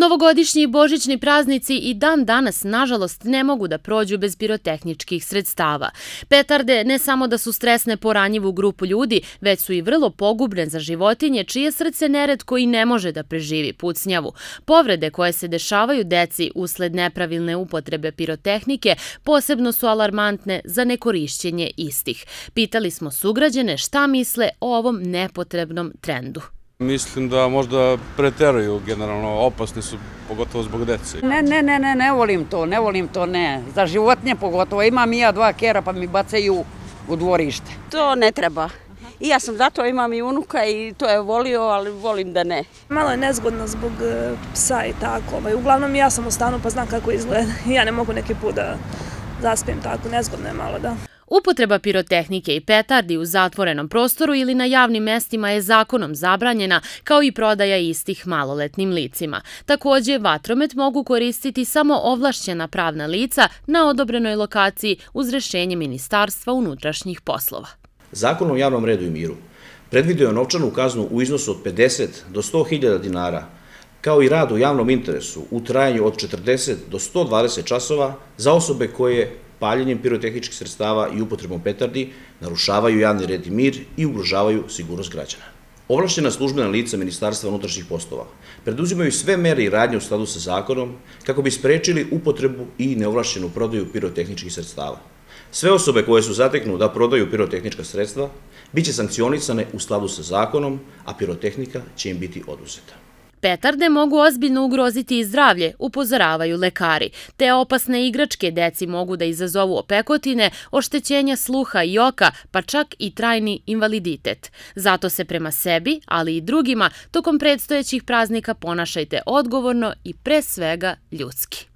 Novogodišnji i božićni praznici i dan danas, nažalost, ne mogu da prođu bez pirotehničkih sredstava. Petarde ne samo da su stresne po ranjivu grupu ljudi, već su i vrlo pogubne za životinje, čije srce neretko i ne može da preživi pucnjavu. Povrede koje se dešavaju deci usled nepravilne upotrebe pirotehnike posebno su alarmantne za nekorišćenje istih. Pitali smo sugrađane šta misle o ovom nepotrebnom trendu. Mislim da možda preteruju, generalno opasni su, pogotovo zbog dece. Ne volim to, ne. Za životinje pogotovo. Imam i ja 2 kera pa mi bacaju u dvorište. To ne treba. I ja sam zato, imam i unuka i to je volio, ali volim da ne. Malo je nezgodno zbog psa i tako. Uglavnom ja sam u stanu pa znam kako izgleda. Ja ne mogu neki put da zaspijem tako. Nezgodno je malo, da. Upotreba pirotehnike i petardi u zatvorenom prostoru ili na javnim mestima je zakonom zabranjena, kao i prodaja istih maloletnim licima. Takođe, vatromet mogu koristiti samo ovlašćena pravna lica na odobrenoj lokaciji uz rešenje Ministarstva unutrašnjih poslova. Zakon o javnom redu i miru predvidio je novčanu kaznu u iznosu od 50 do 100.000 dinara, kao i rad u javnom interesu u trajanju od 40 do 120 časova za osobe koje paljenjem pirotehničkih sredstava i upotrebom petardi narušavaju javni red i mir i ugrožavaju sigurnost građana. Ovlašćena službena lica Ministarstva unutrašnjih poslova preduzimaju sve mere i radnje u skladu sa zakonom kako bi sprečili upotrebu i neovlašćenu prodaju pirotehničkih sredstava. Sve osobe koje su zateknu da prodaju pirotehnička sredstva biće sankcionisane u skladu sa zakonom, a pirotehnika će im biti oduzeta. Petarde mogu ozbiljno ugroziti i zdravlje, upozoravaju lekari. Te opasne igračke deci mogu da izazovu opekotine, oštećenja sluha i oka, pa čak i trajni invaliditet. Zato se prema sebi, ali i drugima, tokom predstojećih praznika ponašajte odgovorno i pre svega ljudski.